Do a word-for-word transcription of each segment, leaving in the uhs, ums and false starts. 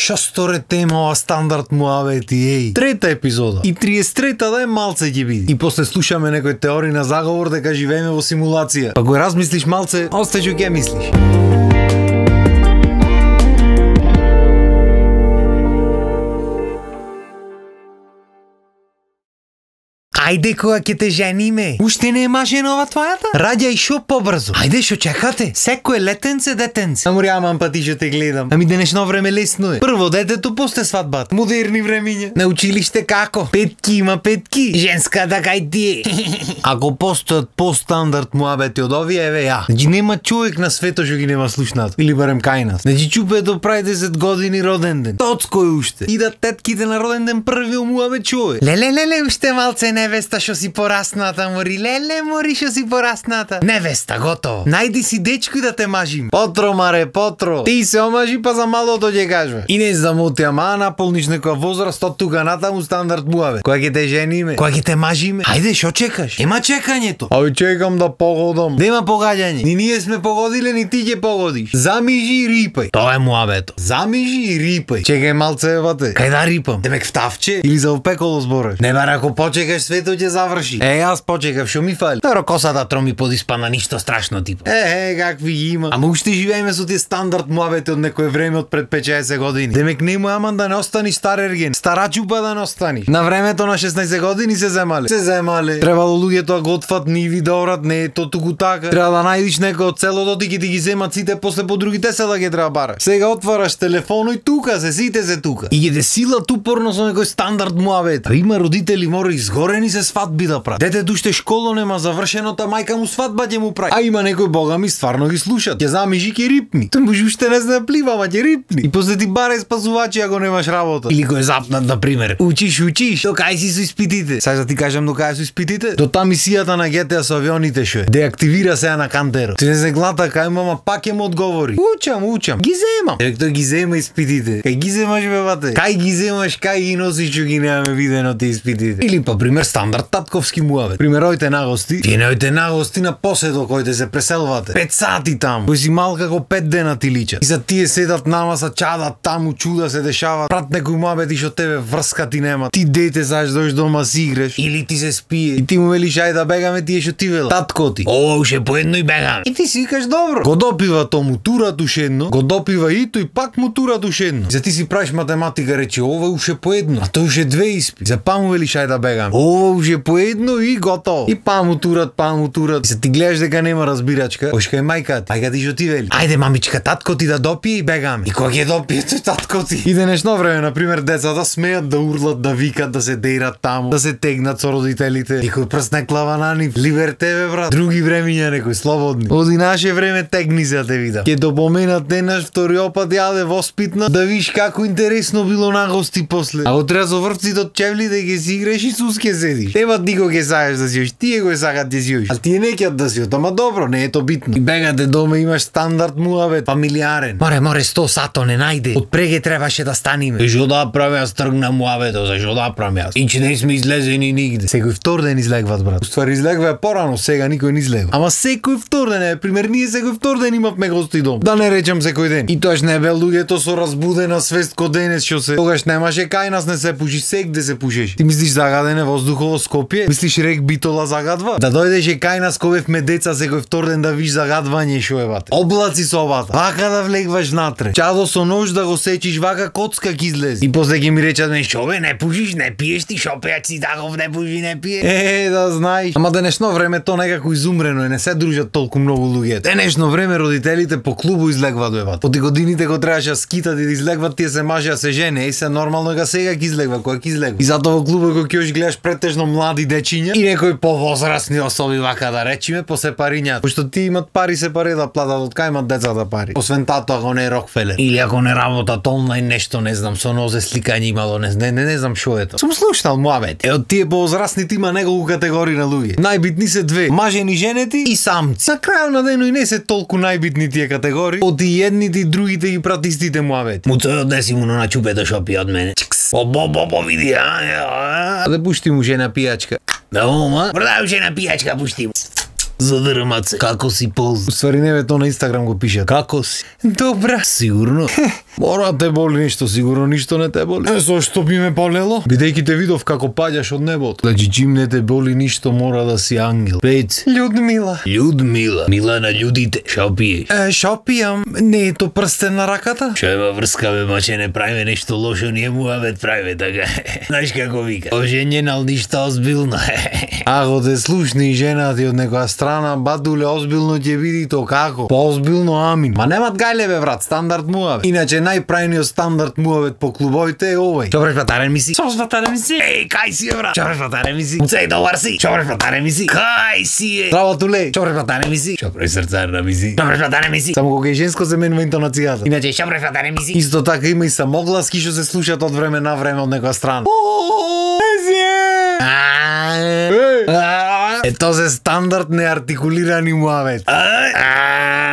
Шесторе тема ова стандард муабети, еј. Трета епизода. И триесет трета да е малце ќе биде. И после слушаме некои теории на заговор дека живееме во симулација. Па го размислиш малце, остајќи ќе мислиш. Ајде кога ќе те жениме. Уште не е мажена ова твојата? Раѓај шо побрзо. Ајде шо чекате? Секој летенце детенце. Ама рямам па ти што те гледам. Ами денешно време лесно е. Прво детето, после свадбата. Модерни времиња. На училиште како? Петки има петки. Женската кај ти е. Ако постојат по-стандард муабети од овие, еве ја. Значи нема човек на светот што ги нема слушнат. Или барем кај нас. Значи чупето прави десет години роден ден. Тоцко е уште. И да тетките на роден ден први муабет чуе. Леле леле уште малце невеста што си порасната, мори. Леле мори што си порасната. Невеста готово. Најди си дечко и да те мажим. Потро маре, потро. Ти се омажи па за малото ќе кажува. И не замоти, ама наполниш некоја возраст од тука натаму стандард муабет. Кога ќе те жениме? Кога ќе те мажиме? Ајде шо чекаш? Ема чекањето. Ај чекам да погодам. Нема погаѓање. Ни ние сме погодиле, ни ти ќе погодиш. Замижи и рипај. Тоа е муабето. Замижи и рипај. Чекај малце евате. Кај да рипам? Демек втавче или за опеколо збораш? Не бар ако почекаш свето ќе заврши. Е, јас почекав, шо ми фали? Таро косата троми подиспана, ништо страшно типа. Е, е, какви ги има. Ама уште живееме со тие стандард муабети од некое време од пред петчаесет години. Демек нему аман да не остани стар ерген. Старачупа да не остани. На времето на шеснаесет години се земале. Се земале. Требало луѓето да готват ниви да орат, не е то туку така. Треба да најдиш некој од селото ти ќе ти ги земат сите, после по другите села ќе треба бараш. Сега отвараш телефон и тука се, сите се тука. И ќе те силат упорно со некој стандард муабет. А има родители мори изгорени се свадби да прават. Детето уште школо нема завршено, та мајка му свадба ќе му прави. А има некој богами стварно ги слушат. Ќе замижи ќе рипни. Тој може уште не знае плива, ама ќе рипни. И после ти барај спасувачи ако немаш работа. Или кој е запнат на пример. Учиш, учиш. До кај си со испитите? Сај да ти кажам до кај со испитите? До та мисијата на ГТА со авионите шо е. Деактивира сега на кантеро. Ти не се глата кај мама пак ќе му одговори. Учам, учам. Ги земам. Еве тој ги зема испитите. Кај ги земаш бе бате? Кај ги земаш, кај ги носиш што ги немаме видено ти испитите. Или па пример стандард татковски муабет. Пример ојте на гости. Вие не ојте на гости на поседо кој се преселвате. Пет сати таму. Кој си мал како пет дена ти личат. И за тие седат нама са чадат таму, чуда се дешава. Прат некој муабет и што тебе врска ти нема. Ти дете саш дојш дома си играш или ти се спие. И ти му велиш ајде да бегаме, тие што ти вела. Татко ти. О, уште поедно и бегаме. И ти си викаш добро. Го допива то му турат ушедно, го допива и тој пак му турат ушедно. За ти си правиш математика, рече ова уште поедно, а тој уште две испи. За па му велиш ајде да бегаме. Ова уште поедно и готово. И па му турат, па му турат. И се ти гледаш дека нема разбирачка. Ош кај мајка, мајка ти што ти вели? Ајде мамичка, татко ти да допие и бегаме. И кога ќе допие тој татко ти? И денешно време на пример децата смеат да урлат, да викат, да се дејрат таму, да се тегнат со родителите. Никој прст не клава на нив. Либертеве брат. Други времиња некој слободни. Оди наше време тегни се те видам. Ќе допоменат денаш втори опат јаде воспитна да виш како интересно било на гости после. А го треба со врвците од чевлите ќе си играш и сус ќе седиш. Тема никој ќе сакаш да си још, тие го сакат да си још. А тие не ќе да си, ама добро, не е то битно. И бегате дома имаш стандард муабет, фамилиарен. Море, море сто сато не најде. Од преге требаше да станиме. И што да правам јас тргна муабето, за што да правам јас? Инче не сме излезени нигде. Секој втор ден излегват брат. Уствари излегва порано, сега никој не излегва. Ама секој втор ден е, пример ние секој втор ден имавме гости дом. Да не речам секој ден. И тоаш не бе луѓето со разбудена свест ко денес што се. Тогаш немаше кај нас не се пуши, сегде се пушеше. Ти мислиш загаден е воздухово Скопје? Мислиш рек Битола загадва? Да дојдеше кај нас кога бевме деца секој втор ден да виш загадвање шо е бате. Облаци со обата. Вака да влегваш натре. Чадо со нож да го сечиш, вака коцка ќе излезе. И после ќе ми речат ме шо бе, не пушиш, не пиеш ти, шо пејач си таков, не пуши, не пие. Е, да знаеш. Ама денешно време то некако изумрено е, не се дружат толку многу луѓе. Денешно време родителите по клубу излегват бе. Поти годините го требаше да скитат и да излегват, тие се мажеа се жене, и се нормално га сега ќе излегва, кога ќе излегва. И затоа во клубот кога ќе гледаш претежно млади дечиња и некои повозрасни особи вака да речиме по сепарињата. Пошто ти имат пари се пари да платат, од кај имат децата пари. Освен тато ако не е Рокфелер. Или ако не работат онлайн нешто, не знам, со нозе сликање имало, не, не, не, не знам шо е тоа. Сум слушнал муабет. Е од тие повозрасните има неколку категории на луѓе. Најбитни се две: мажени женети и самци. На крајот на денот и не се толку најбитни тие категории, од и едните и другите ги прат истите муабети. Му тој однеси му на чупето шо пие од мене. О, бо, бо, бо, види, а? Да пушти му жена пијачка. Да, ома, продавам жена пијачка, пушти му. Задрмат се. Како си полза? Уствари не бе, то на Инстаграм го пише. Како си? Добра. Сигурно. Мора те боли нешто, сигурно ништо не те боли. Е, со што би ме болело? Бидејќи те видов како паѓаш од небото. Значи чим не те боли ништо, мора да си ангел. Пец. Людмила. Людмила. Мила на људите. Шо пиеш? Е, шо пијам? Не е то прстен на раката? Шо ема врска, бе, маче, не правиме нешто лошо, ние муавет правиме така. Знаеш како вика? Оженjen, ал ништо озбилно. Ако те слушни жена ти од некоја страна, батуле, озбилно ќе види то како. Поозбилно, амин. Ма немат гајле, бе, брат, стандард муавет. Иначе најправниот стандард муавет по клубовите е овој. Чо бреш, батаре ми си? Со батаре ми си? Еј, кај си е, брат? Чо бреш, батаре ми си? Уцеј, добар си? Чо бреш, батаре ми си? Кај си е? Здраво, туле. Чо бреш, батаре ми си? Чо бреш, срцарна ми си? Чо бреш, батаре ми си? Само кога е женско се менува интонацијата. Иначе, шо бреш, батаре ми си? Исто така има и самогласки што се слушаат од време на време од некоја страна. Е, тоа се стандард неартикулирани муавет.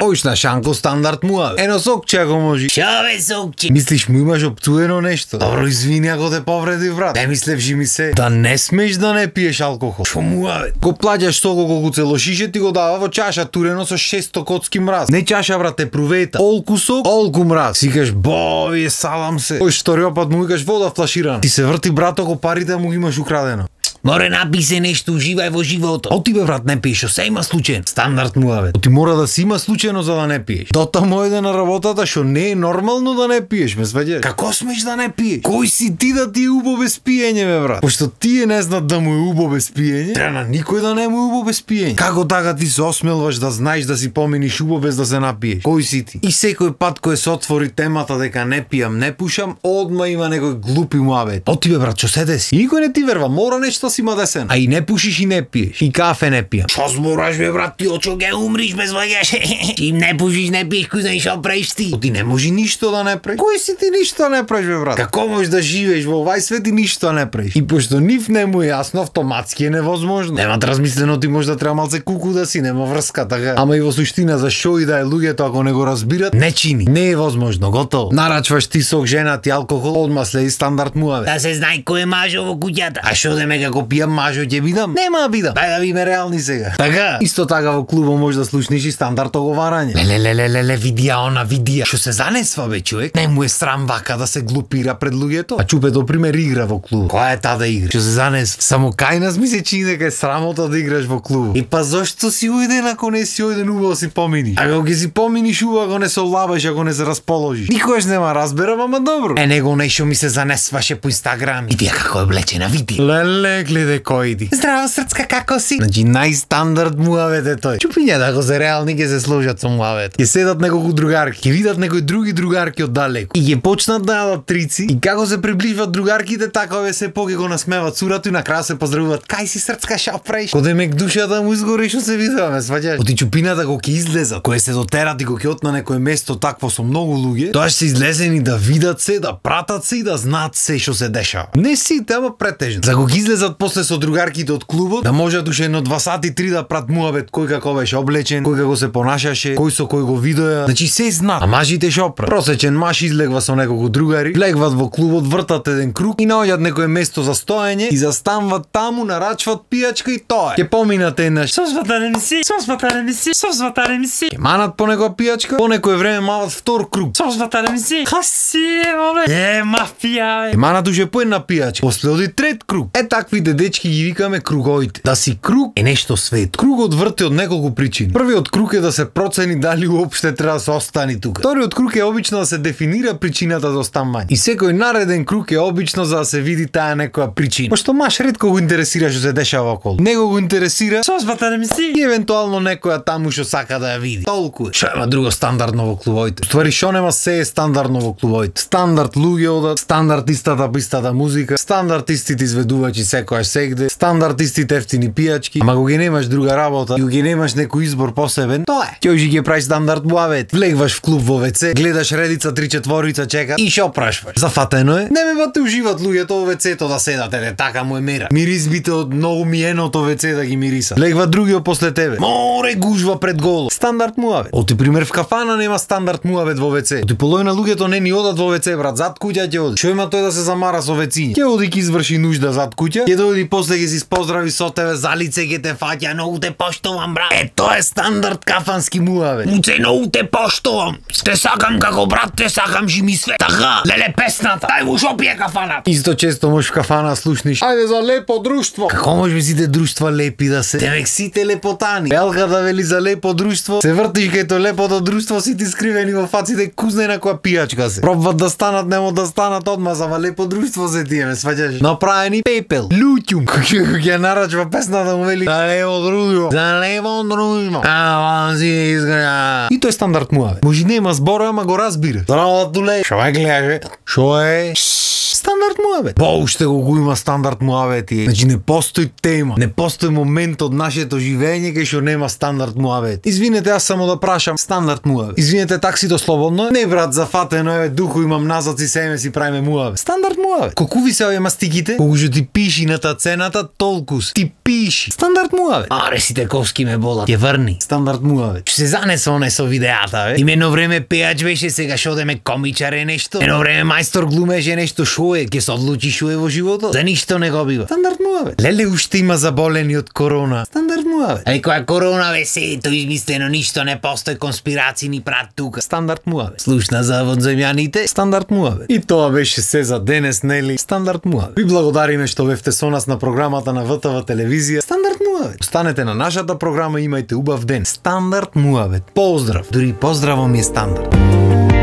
Ојшна Шанко стандард муавет. Ено сокче ако може. Шо бе сокче? Мислиш му имаш опцуено нешто? Добро, извини ако те повреди, брат. Не мислевши ми се да не смеш да не пиеш алкохол. Шо муавет? Ко плаќаш сого колку цело шише ти го дава во чаша турено со шесто коцки мраз. Не чаша, брат, е прувета. Олку сок, олку мраз. Сикаш, бо, вие салам се. Ој шториопат му викаш вода флаширана. Ти се врти, брато, го парите му ги имаш украдено. Море, напи се нешто, уживај во животот. Оти бе, брат, не пиеш, се има случаен. Стандард муавет. Оти мора да си има случајно за да не пиеш. Дота му еде на работата што не е нормално да не пиеш, ме сваѓаш. Како смеш да не пиеш? Кој си ти да ти е убо без пиење, бе, брат? Пошто тие не знаат да му е убо без пиење, треба на никој да не му е убо без пиење. Како така ти се осмелваш да знаеш да си поминиш убо без да се напиеш? Кој си ти? И секој пат кој се отвори темата дека не пијам, не пушам, одма има некој глупи муавет. Оти бе, брат, што се деси? Никој не ти верва, мора нешто си има десен. А и не пушиш и не пиеш. И кафе не пијам. Шо збораш, бе, брат, ти очо ге умриш, без ваѓаш. Им не пушиш, не пиеш, кој знаеш шо правиш ти? Ти не може ништо да не правиш. Кој си ти ништо не правиш, бе, брат? Како можеш да живееш во овај свет и ништо не правиш? И пошто нив не му е јасно, автоматски е невозможно. Немат размислено, ти може да треба малце куку да си, нема врска така. Ама и во суштина за шо и да е луѓето ако не го разбират, не чини. Не е возможно, готово. Нарачваш ти сок, жена ти алкохол, одма следи стандард муавет. Да се знае кој е мажо во куќата. А шо деме како пијам мажо ќе бидам? Нема да бидам. Дај да биме реални сега. Така. Исто така во клубот може да слушнеш и стандард оговарање. Леле леле леле видија она видија. Што се занесва бе човек? Не му е срам вака да се глупира пред луѓето. А чупе до пример игра во клуб. Која е таа да игра? Што се занесва? Само кај нас ми се чини дека е срамота да играш во клуб. И па зошто си уиден ако не си уиден убаво си поминиш? Ако ги си поминиш убаво ако не се олабаш, ако не се расположиш. Никош нема разберам, ама добро. Е него нешто ми се занесваше по Инстаграм. Видија како е облечена, види. Леле гледе кој иди. Здраво срцка, како си? Значи најстандард муавет е тој. Чупиња да го се реални ќе се сложат со муавет. Ќе седат неколку другарки, ќе видат некои други другарки од далеку и ќе почнат да јадат трици и како се приближуваат другарките, така овие се поќе го насмеваат цурато и на крај се поздравуваат. Кај си срцка, шо правиш? Коде мек душата му изгори што се видуваме, сваќаш? Оти чупината го ќе излезат, кога се дотерат и го ќе отна некое место такво со многу луѓе, тоа ќе се излезени да видат се, да пратат се и да знаат се што се дешава. Не сите, ама претежно. За го ќе излезат после со другарките од клубот, да можат уште едно два сати три да прат муавет кој како беше облечен, кој како се понашаше, кој со кој го видоа. Значи се знаат. А мажите шо прават? Просечен маж излегва со неколку другари, легват во клубот, вртат еден круг и наоѓаат некое место за стоење и застанват таму, нарачват пијачка и тоа е. Ќе поминат еднаш. Со сватаре ми си, со сватаре ми си, со сватаре ми си. Ќе манат по некоја пијачка, по некое време мават втор круг. Со сватаре ми си. Хаси, моле. Е, мафија. Ќе манат уште по една пијачка. После оди трет круг. Е таквите дечки ги викаме круговите. Да си круг е нешто свет. Кругот врти од неколку причини. Првиот круг е да се процени дали уопште треба да се остани тука. Вториот круг е обично да се дефинира причината за останување. И секој нареден круг е обично за да се види таа некоја причина. Пошто маш ретко го интересира што се дешава околу. Него го интересира со сватаре ми си и евентуално некоја таму што сака да ја види. Толку. Што има друго стандардно во клубовите? Ствари што нема се е стандардно во клубовите. Стандард луѓе одат, стандард истата пистата музика, стандард истите изведувачи секојаш сегде, стандард истите ефтини пијачки. Ама кога немаш друга работа и кога немаш некој избор посебен, тоа е. Ќе ожи ќе правиш стандард муавет. Влегваш в клуб во вец, гледаш редица три четворица чека и шо прашваш? Зафатено е? Не ме бате уживат луѓето во вецето да седат, е така му е мера. Миризбите од многу миеното веце да ги мириса. Легва другиот после тебе. Море гужва пред голо. Стандард муавет. Оти пример в кафана нема стандард муавет во веце. Оти половина луѓето не ни одат во веце, брат, зад куќа ќе оди. Шо има тој да се замара со вециња? Ќе оди ќе изврши нужда зад куќа, ќе дојди после ќе си поздрави со тебе, за лице ќе те фаќа, многу те поштовам, брат. Е, тоа е стандард кафански муавет. Муце, многу те поштовам. Те сакам како брат, те сакам жи ми све. Така, леле песната. Дај му шо пие кафанат. Исто често можеш в кафана слушниш. Ајде за лепо друштво. Како може сите друштва лепи да се? Демек сите лепотани. Белга да вели за лепо друштво, се вртиш кај тоа лепото друштво, сите скривени во фаците, кузнена која пијачка се. Пробват да станат, нема да станат одма, за лепо друштво се тие, ме сваќаш. Направени пепел, лутјум. Ќе нарачва песната му вели за лепо друштво. За лепо друштво. А, ван си изгреа. И тој стандард муавет. Може нема збор, ама го разбира. Здраво, туле. Шо е гледаш? Шо е? Стандард муавет. Поуште го го има стандард муавети. Значи не постои тема, не постои момент од нашето живење кај што нема стандард муавет. Извинете, аз само да прашам стандард муавет. Извинете, таксито слободно? Не брат, зафатено е, духу имам назад и семе си правиме муавет. Стандард муавет. Колку ви се овие мастиките? Колку што ти пиши на та цената, толкус. Ти пиши. Стандард муавет. Аре си тековски ме болат. Ќе врни. Стандард муавет. Што се занесе оне со видеата, бе? Им едно време пеач беше, сега шо одеме комичар е нешто. Едно време мајстор глумеше нешто, шо е, ќе се одлучи шо е во животот. За ништо не го бива. Стандард муавет. Леле уште има заболени од корона. Стандард муавет. Али која корона бе се, тоа измислено, ништо не постои, конспирации ни прат тука. Стандард муавет. Слушна за водземјаните. Стандард муавет. И тоа беше се за денес, нели? Стандард муавет. Ви благодариме што бевте со нас на програмата на В Т В телевизија. Стандард муавет. Останете на нашата програма и имајте убав ден. Стандард муавет. Поздрав. Дури поздравом е стандард.